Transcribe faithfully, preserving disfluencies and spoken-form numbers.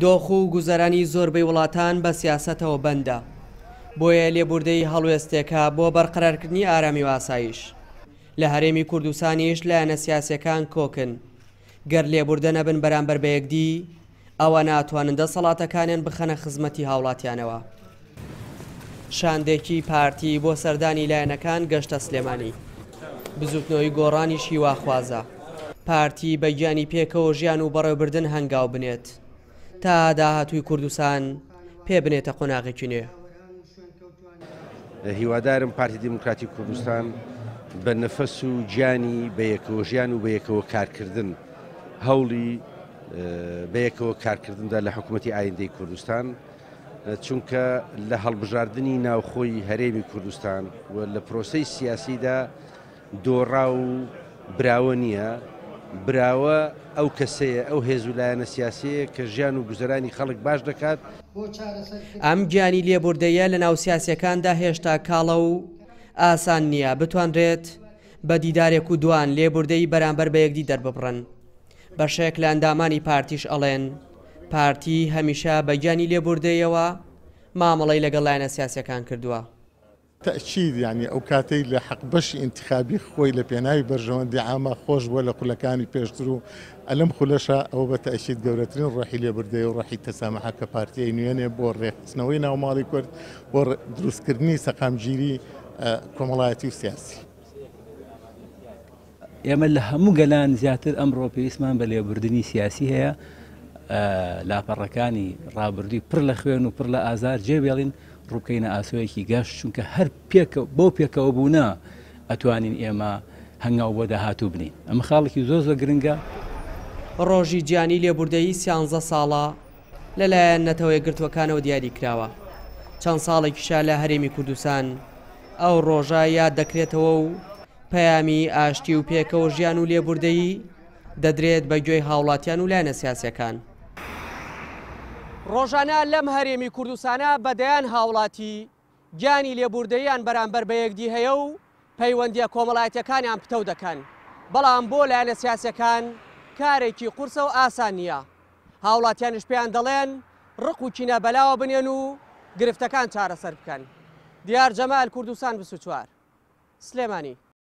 دۆخ و گوزەرانی زۆربەی وڵاتان بە سیاسەتەوە بەندە، بۆیە لێبوردەیی هەڵوێستێکە بۆ بەرقەرارکردنی ئارامی و ئاسایش. لە هەرێمی کوردستانیش لایەنە سیاسیەکان کۆکن، گەر لێبوردە نەبن بەرامبەر بە یەکدی، ئەوە ناتوانن دەسەڵاتەکانیان بخەنە خزمەتی هاوڵاتیانەوە. شاندێکی پارتی بۆ سەردانی لایەنەکان گەشتە سلێمانی. بزوتنەوەی گۆڕانیش هیواخوازە پارتی بە گیانی پێکەوە ژیان و بەڕێوەبردن هەنگاو بنێت تا داهاتووی کوردستان پێ بنێتە قۆناغێکی نوێ. هیوادارم پارتی دیموکراتی کوردستان بە نەفەس و گیانی بەیەکەوە ژیان و بەیەکەوە کارکردن هەوڵی بەیەکەوە کارکردندا لە حکوومەتی ئایندەی کوردستان، چونکە لە هەڵبژاردنی ناوخۆی هەرێمی کوردستان و لە پرۆسەی سیاسیدا دۆڕا و براوە نییە. براوە ئەو کەسەیە، ئەو هێز و لایەنە سیاسیەیە کە ژیان و گوزەرانی خەڵک باش دەکات. ئەم گیانی لێبوردەیە لە ناو سیاسیەکاندا هێشتا کاڵە و ئاسان نییە بتوانرێت بە دیدارێک و دوان لێبوردەی بەرامبەر بە یەکدی دەرببڕن. بەشێک لە ئەندامانی پارتیش ئەڵێن پارتی هەمیشە بە گیانی لێبوردەیەوە مامەڵەی لەگەڵ لایەنە سیاسیەکان کردووە. تەئکید یعنی ئەو کاتەی لە حەقبەشی ئینتخابی خۆی لە پێناوی بەرژەوەندی عامە خۆش بووە لە خولەکانی پێشتر و ئەلەم خولەشە ئەوە بە تەئکید گەورەترین ڕۆحی لێبوردەیە و ڕۆحی تەسامحە کە پارتیای نوێنێ بۆ ڕێکخستنەوەی ناوماڵی کورد، بۆ دروستکردنی سەقامگیری کۆمەڵایەتی و سیاسی. ئێمە لە هەموو گەلان زیاتر ئەمڕۆ پێویستمان بە لێبوردنی سیاسی هەیە. لاپەڕەکانی ڕابردووی پڕ لە خوێن و پڕ لە ئازار جێبێڵین، ڕووبکەینە ئاسۆیەکی گەشت، چونکە هەر بۆ پێکەوە بوونە ئەتوانین ئێمە هەنگاو بۆ داهاتوو بنین. ئەمە خاڵێکی زۆر زۆر گرنگە. ڕۆژی جیهانی لێبوردەیی سیانزە ساڵە لەلایەن نەتەوە یەکگرتووەکانەوە دیاری کراوە. چەند ساڵێکیشە لە هەرێمی کوردستان ئەو ڕۆژە یاد دەکرێتەوە و پەیامی ئاشتی و پێکەوە ژیان و لێبوردەیی دەدرێت بە گوێی هاوڵاتیان و لایەنە سیاسیەکان. ڕۆژانە لەم هەرێمی کوردستانە بەدەیان هاوڵاتی گیانی لێبوردەیان بەرامبەر بە یەکدی هەیە و پەیوەندیە کۆمەڵایەتیەکانیان پتەو دەکەن، بەڵام بۆ لایەنە سیاسیەکان کارێکی قورسە و ئاسان نییە. هاوڵاتیانش پێیان دەڵێن ڕق و کینە بەلاوە بنێن و گرفتەکان چارەسەر بکەن. دیار جەمال، کوردستان بیست و چوار، سلێمانی.